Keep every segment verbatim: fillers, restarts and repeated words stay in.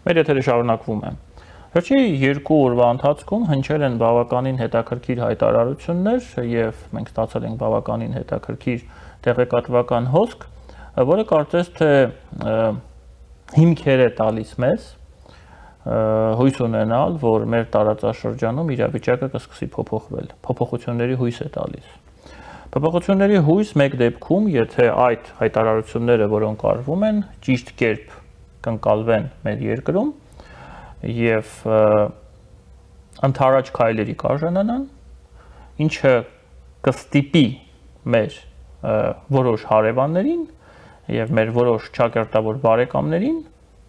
Մեր եթերը շարունակվում է։ Վերջի երկու օրվա ընթացքում հնչել են բավականին հետաքրքիր հայտարարություններ եւ մենք ստացել ենք բավականին հետաքրքիր տեղեկատվական հոսք, որը կարծես թե հիմքեր է տալիս մեզ հույս ունենալ, որ մեր տարածաշրջանում իրավիճակը կսկսի փոփոխվել, փոփոխությունների հույս է տալիս։ Փոփոխությունների հույս մեկ դեպքում, եթե այդ հայտարարությունները, որոնք արվում են, ճիշտ կերպ կընկալվեն մեր երկրում եւ ընդառաջ քայլերի կարժանանան, ինչը կստիպի մեր որոշ հարևաններին եւ մեր որոշ ճակերտավոր բարեկամներին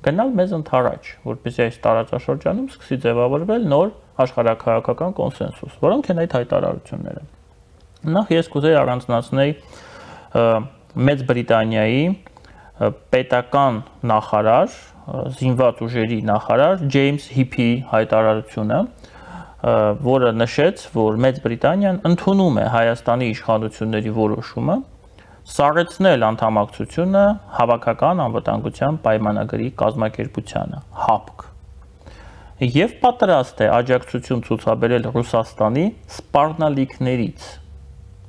գնալ մեզ ընդառաջ, որպեսզի այս տարածաշրջանում սկսի ձևավորվել նոր աշխարհաքաղաքական կոնսենսուս, որոնք են այդ հայտարարությունները։ Նախ ես կուզեի առանձնացնել Մեծ Բրիտանիայի պետական նախարար, զինված ուժերի նախարար Ջեյմս Հիփի հայտարարությունը, որը նշեց, որ Մեծ Բրիտանիան ընդունում է Հայաստանի իշխանությունների որոշումը սառեցնել անդամակցությունը Հավաքական անվտանգության պայմանագրի կազմակերպությանը (հապկ) եւ պատրաստ է աջակցություն ցուցաբերել Ռուսաստանի սպառնալիքներից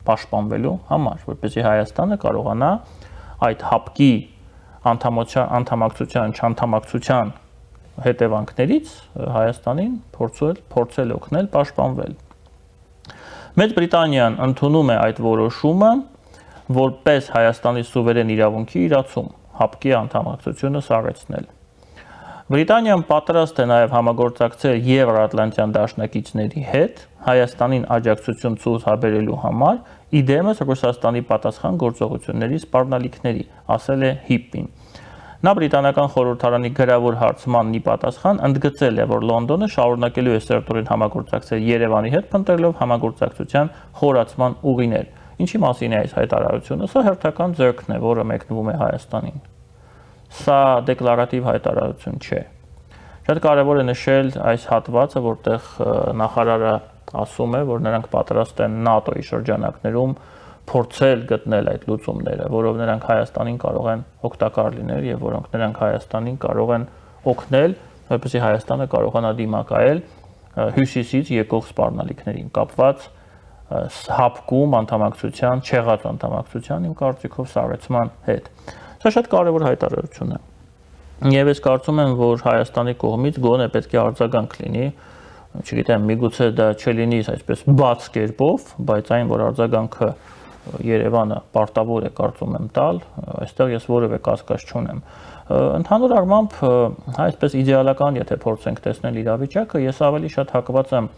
պաշտպանվելու համար, որպեսզի Հայաստանը կարողանա այդ հապկի անդամակցության, չանդամակցության հետևանքներից Հայաստանին փորձել, փորձել օգնել պաշտպանվել։ Մեծ Բրիտանիան ընդունում է այդ որոշումը որպես Հայաստանի սուվերեն իրավունքի իրացում, հապկի անդամակցությունը սառեցնել։ Բրիտանիան պատրաստ է նաև համագործակցել Եվրոատլանտյան դաշնակիցների հետ Հայաստանին աջակցություն ցուցաբերելու համար, իդեմս Ռուսաստանի պատասխան գործողությունների սպառնալիքների, ասել է Հիփին։ Նա բրիտանական խորհրդարանի գրավոր հարցմանն ի պատասխան ընդգծել է, որ Լոնդոնը շարունակելու է սերտորեն համագործակցել Երևանի հետ, փնտրելով համագործակցության խորացման ուղիներ։ Ինչի մասին է այս հայտարարությունը? Սա հերթական ձեռքն է, որը մեկնվում է Հայաստանին։ Սա դեկլարատիվ հայտարարություն չէ։ Շատ կարևոր է նշել այս հատվածը, որտեղ նախարարը ասում է, որ նրանք պատրաստ են ՆԱՏՕ-ի շրջանակներում փորձել գտնել այդ լուծումները, որով նրանք Հայաստանին կարող են օգտակար լինել եւ որոնք նրանք Հայաստանին կարող են օգնել, որպեսզի Հայաստանը կարողանա դիմակայել հյուսիսից եկող սպառնալիքներին կապված հապկում անդամակցության, չեղած անդամակցության իմ կարծիքով սառեցման հետ։ Սա շատ կարևոր հայտարարություն է։ Եվ ես կարծում եմ, որ Հայաստանի կողմից գոնե պետք է արձագանք լինի, չգիտեմ, միգուցե դա չլինի այսպես բաց կերպով, բայց այն, որ արձագանքը Երևանը պարտավոր է կարծում եմ տալ, այստեղ ես որևէ կասկած չունեմ։ Ընդհանուր առմամբ, այսպես իդեալական, եթե փորձենք տեսնել իրավիճակը, ես ավելի շատ հակված եմ,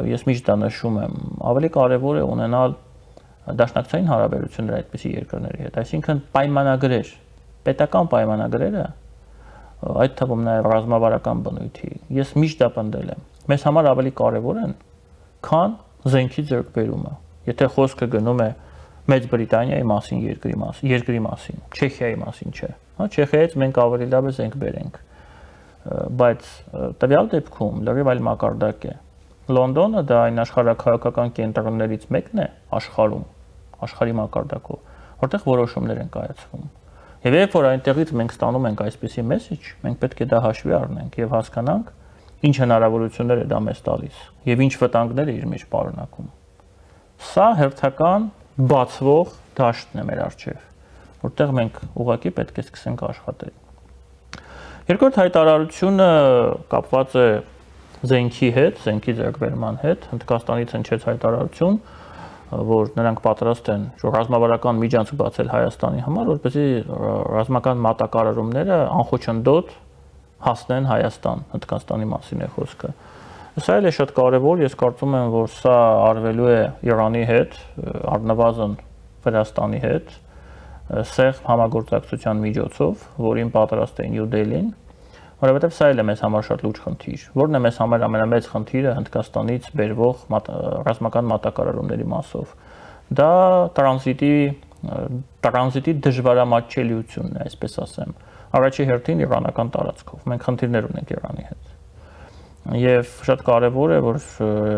ես միշտ դա նշում եմ, ավելի կարևոր է ունենալ դաշնակցային հարաբերություններ այդպիսի երկրների հետ, այսինքն պայմանագրեր, պետական պայմանագրերը, այդ թվում նաև ռազմավարական բնույթի, ես միշտ դա պնդել եմ, մեզ համար ավելի կարևոր են, քան զենքի ձեռքբերումը, եթե խոսքը գնում է Մեծ Բրիտանիայի մասին, երկրի մասին, երկրի մասին, Չեխիայի մասին չէ, հա, Չեխիայից մենք ավելի լավ է զենք բերենք, բայց տվյալ դեպքում լրիվ այլ մակարդակ է։ Լոնդոնը դա այն աշխարհաքաղաքական կենտրոններից մեկն է աշխարհում, աշխարհի մակարդակով, որտեղ որոշումներ են կայացվում։ Եվ երբ որ այնտեղից մենք ստանում ենք այսպիսի մեսեջ, մենք պետք է դա հաշվի առնենք եւ հասկանանք, ինչ հնարավորություններ է դա մեզ տալիս եւ ինչ վտանգներ է իր մեջ պարունակում։ Սա հերթական բացվող դաշտն է մեր առջև, որտեղ մենք ուղղակի պետք է սկսենք աշխատել։ Երկրորդ հայտարարությունը կապված է զենքի հետ, զենքի ձեռքբերման հետ, Հնդկաստանից հնչեց հայտարարություն, որ նրանք պատրաստ են ռազմավարական միջանցք բացել Հայաստանի համար, որպեսզի ռազմական մատակարարումները անխոչնդոտ հասնեն Հայաստան, Հնդկաստանի մասին է խոսքը։ Սա էլ է շատ կարևոր, ես կարծում եմ, որ սա արվելու է Իրանի հետ, առնվազն Վրաստանի հետ, սեղմ համագործակցության միջոցով, որին պատրաստ է Նյու Դելհին, որովհետև սա էլ է մեզ համար շատ լուրջ խնդիր, որն է մեզ համար ամենամեծ խնդիրը Հնդկաստանից բերվող ռազմական մատակարարումների մասով։ Դա տրանզիտի տրանզիտի դժվարամատչելիությունն է, այսպես ասեմ։ Առաջի հերթին իրանական տարածքով։ Մենք խնդիրներ ունենք Իրանի հետ։ Եվ շատ կարևոր է, որ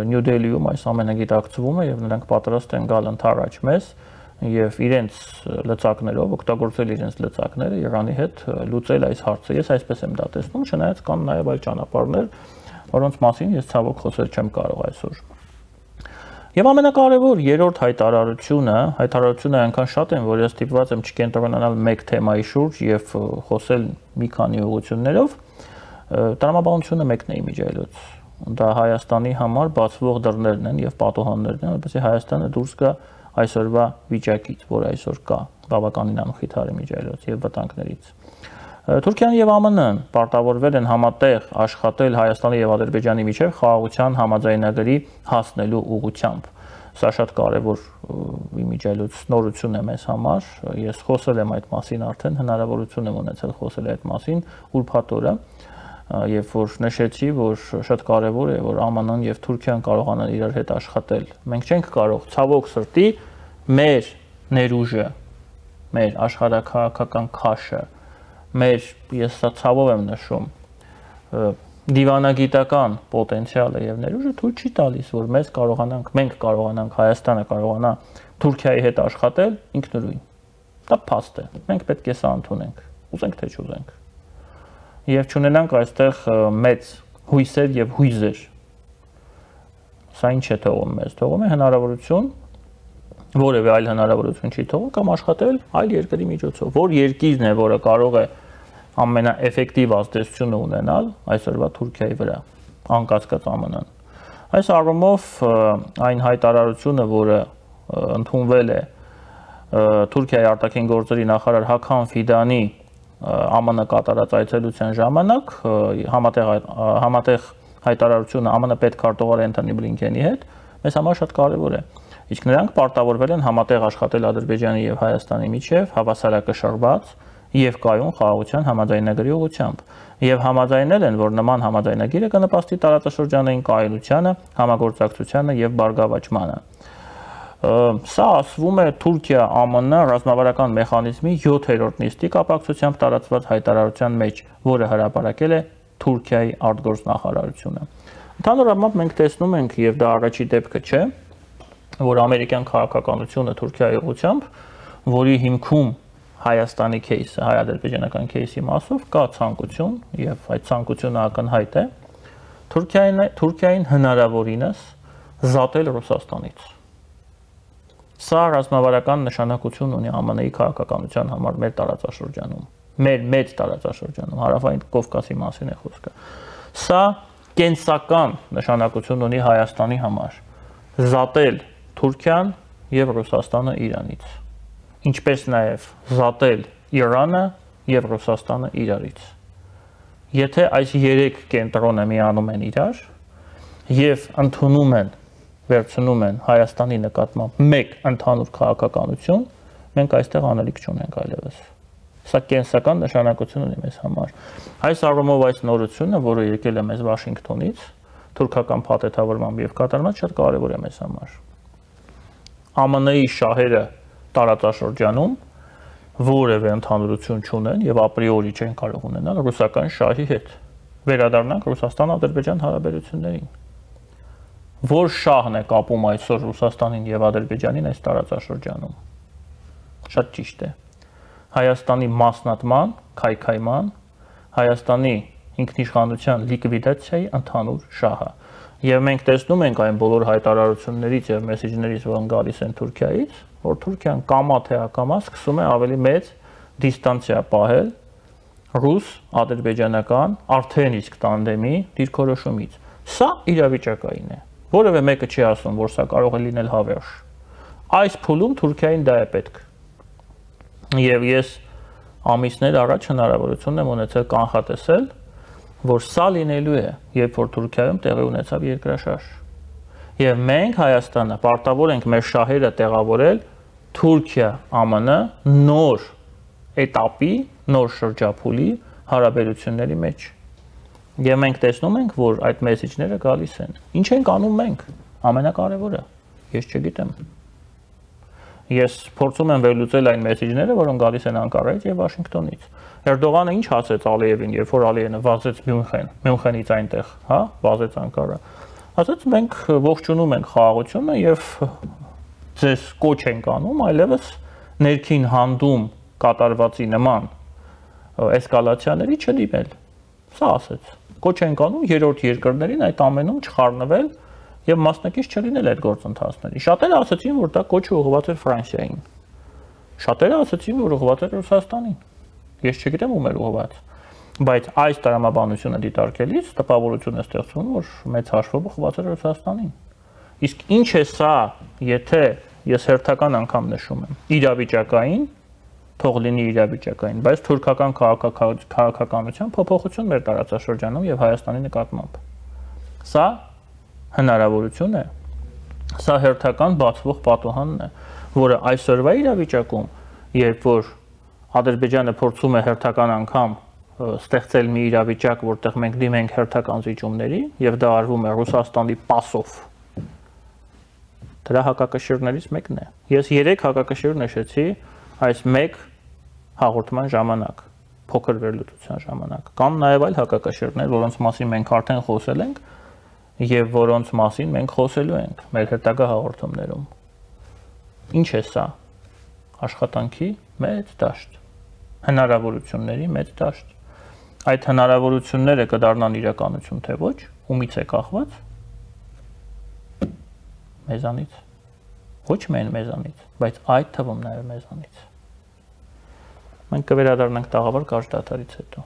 Նյու Դելհիում այս ամենը գիտակցվում է եւ նրանք պատրաստ են գալ ընդառաջ մեզ եւ իրենց լծակներով օգտագործել իրենց լծակները Իրանի հետ լուծել այս հարցը։ Ես այսպես եմ դա տեսնում, չնայած կան նաեւ այլ ճանապարհներ, որոնց մասին ես ցավոք խոսել չեմ կարող այսօր։ Եվ ամենակարևոր երրորդ հայտարարությունը, հայտարարությունը այնքան շատ են, որ ես ստիպված եմ չկենտրոնանալ մեկ թեմայի շուրջ եւ խոսել մի քանի ուղղություններով, տրամաբանությունը մեկն է իմիջիայլոց։ Դա Հայաստանի համար բացվող դռներն են եւ պատուհաններն են, որպեսզի Հայաստանը դուրս գա այսօրվա վիճակից, որ այսօր կա, բավականին անխիթար իմիջիայլոց եւ վտանգներից։ Թուրքիան եւ ԱՄՆ-ն պարտավորվել են համատեղ աշխատել Հայաստանի եւ Ադրբեջանի միջեւ խաղաղության համաձայնագրի հասնելու ուղղությամբ։ Սա շատ կարևոր իմիջիայլոց նորություն է մեզ համար։ Ես խոսել եմ այդ մասին արդեն, հնարավորություն եմ ունեցել խոսել այդ մասին ուրբաթ օրը, երբ որ նշեցի, որ շատ կարևոր է, որ ԱՄՆ-ն եւ Թուրքիան կարողանան իրար հետ աշխատել։ Մենք չենք կարող ցավոք սրտի մեր ներուժը, մեր աշխարհաքաղաքական քաշը, մեր ես սա ցավով եմ նշում, դիվանագիտական պոտենցիալը եւ ներուժը թույլ չի տալիս, որ մեզ կարողանանք, մենք կարողանանք, Հայաստանը կարողանա Թուրքիայի հետ աշխատել ինքնուրույն։ Դա փաստ է։ Մենք պետք է սա ընդունենք, ուզենք թե չուզենք։ Եվ չունենանք այստեղ մեծ հույսեր եւ հույզեր։ Սա ինչ է թողում մեզ, թողում է հնարավորություն, որևէ այլ հնարավորություն չի թողում, կամ աշխատել այլ երկրի միջոցով, որ երկիրն է, որը կարող է ամենաէֆեկտիվ ազդեցությունը ունենալ այսօրվա Թուրքիայի վրա, անկասկած ԱՄՆ-ն։ Այս առումով այն հայտարարությունը, որը ընդունվել է Թուրքիայի արտաքին գործերի նախարար Հական Ֆիդանի ԱՄՆ կատարած այցելության ժամանակ համատեղ համատեղ հայտարարությունը ԱՄՆ պետքարտուղար Էնթոնի Բլինքենի հետ մեզ համար շատ կարևոր է։ Իսկ նրանք պարտավորվել են համատեղ աշխատել Ադրբեջանի եւ Հայաստանի միջև հավասարակշռված եւ կայուն խաղաղության համաձայնագրի ուղղությամբ եւ համաձայնել են, որ նման համաձայնագիրը կնպաստի տարածաշրջանային կայունությանը, համագործակցությանը եւ բարգավաճմանը։ Սա ասվում է Թուրքիա-ԱՄՆ ռազմավարական մեխանիզմի յոթերորդ նիստի կապակցությամբ տարածված հայտարարության մեջ, որը հրապարակել է Թուրքիայի արտգործնախարարությունը։ Ընդհանուր առմամբ մենք տեսնում ենք, եւ դա առաջի դեպքը չէ, որ ամերիկյան քաղաքականությունը Թուրքիայի ուղղությամբ, որի հիմքում Հայաստանի кейսը, հայ-ադրբեջանական кейսի մասով կա ցանկություն, եւ այդ ցանկությունը ակնհայտ է, Թուրքիային Թուրքիային հնարավորինս զատել Ռուսաստանից։ Սա ռազմավարական նշանակություն ունի ԱՄՆ-ի քաղաքականության համար մեր տարածաշրջանում, մեր մեծ տարածաշրջանում, հարավային Կովկասի մասին է խոսքը։ Սա կենսական նշանակություն ունի Հայաստանի համար, զատել Թուրքիան եւ Ռուսաստանը Իրանից, ինչպես նաեւ զատել Իրանը եւ Ռուսաստանը իրարից։ Եթե այս երեք կենտրոնը միանում են իրար եւ ընդունում են վերցնում են Հայաստանի նկատմամբ մեկ ընդհանուր քաղաքականություն, մենք այստեղ անելիք չունենք այլևս։ Սա կենսական նշանակություն ունի մեզ համար։ Այս առումով այս նորությունը, որը եկել է մեզ Վաշինգտոնից, թուրքական փաթեթավորմամբ եւ կատարմամբ շատ կարեւոր է մեզ համար։ ԱՄՆ-ի շահերը տարածաշրջանում որևէ ընդհանրություն չունեն եւ ապրիորի չեն կարող ունենալ ռուսական շահի հետ։ Վերադառնանք Ռուսաստան-Ադրբեջան հարաբերություններին։ Որ շահն է կապում այսօր Ռուսաստանին եւ Ադրբեջանին այս տարածաշրջանում։ Շատ ճիշտ է։ Հայաստանի մասնատման, քայքայման, Հայաստանի ինքնիշխանության լիկվիդացիայի ընդհանուր շահը։ Եվ մենք տեսնում ենք այն բոլոր հայտարարություններից եւ մեսեջներից, որոնք գալիս են Թուրքիայից, որ Թուրքիան կամա թե ակամա սկսում է ավելի մեծ դիստանցիա պահել ռուս-ադրբեջանական արդեն իսկ տանդեմի դիրքորոշումից։ Սա իրավիճակային է։ Որևէ մեկը չի ասում, որ սա կարող է լինել հավերժ։ Այս փուլում Թուրքիային դա է պետք։ Եվ ես ամիսներ առաջ հնարավորություն եմ ունեցել կանխատեսել, որ սա լինելու է, երբ որ Թուրքիայում տեղի ունեցավ երկրաշարժ։ Եվ մենք Հայաստանը պարտավոր ենք մեր շահերը տեղավորել Թուրքիա-ԱՄՆ նոր էտապի, նոր շրջափուլի հարաբերությունների մեջ։ Եվ մենք տեսնում ենք, որ այդ մեսեջները գալիս են։ Ինչ ենք անում մենք։ Ամենակարևորը, ես չգիտեմ։ Ես փորձում եմ վերլուծել այն մեսեջները, որոնք գալիս են Անկարայից եւ Վաշինգտոնից։ Էրդողանը ինչ ասեց Ալիևին, երբ որ Ալիևը վազեց Մյունխեն, Մյունխենից այնտեղ, հա, վազեց Անկարա։ Ասաց մենք ողջունում ենք խաղաղությունը եւ ձեզ կոչ ենք անում այլևս ներքին հանդում կատարվածի նման էսկալացիաների չդիմել։ Սա ասեց։ Կոչ ենք անում երրորդ երկրներին այդ ամենում չխառնվել եւ մասնակից չլինել այդ գործընթացների։ Շատերը ասացին, որ դա կոչը ուղղված էր Ֆրանսիային։ Շատերը ասացին, որ ուղղված էր Ռուսաստանին։ Ես չգիտեմ ում էր ուղղված։ Բայց այս տրամաբանությունը դիտարկելիս տպավորություն է ստեղծվում, որ մեծ հաշվով ուղղված է Ռուսաստանին։ Իսկ ինչ է սա, եթե ես հերթական անգամ նշում եմ, իրավիճակային, թող լինի իրավիճակային, բայց թուրքական քաղաքականության փոփոխություն մեր տարածաշրջանում եւ Հայաստանի նկատմամբ։ Սա հնարավորություն է, սա հերթական բացվող պատուհանն է, որը այսօրվա իրավիճակում, երբ որ Ադրբեջանը փորձում է հերթական անգամ ստեղծել մի իրավիճակ, որտեղ մենք դիմենք հերթական զիջումների եւ դա արվում է Ռուսաստանի պասով։ Դրա հակակշիռներից մեկն է։ Ես երեք հակակշիռ նշեցի այս մեկ հաղորդման ժամանակ, փոքր վերլուծության ժամանակ։ Կան նաեւ այլ հակակշիռներ, որոնց մասին մենք արդեն խոսել ենք եւ որոնց մասին մենք խոսելու ենք մեր հետագա հաղորդումներում։ Ինչ է սա։ Աշխատանքի մեծ դաշտ, հնարավորությունների մեծ դաշտ։ Այդ հնարավորությունները կդառնան իրականություն թե ոչ, ումից է կախված։ Մեզանից։ Ոչ միայն մեզանից, բայց այդ թվում նաև մեզանից։ Մենք կվերադառնանք տաղավար կարճ դադարից հետո։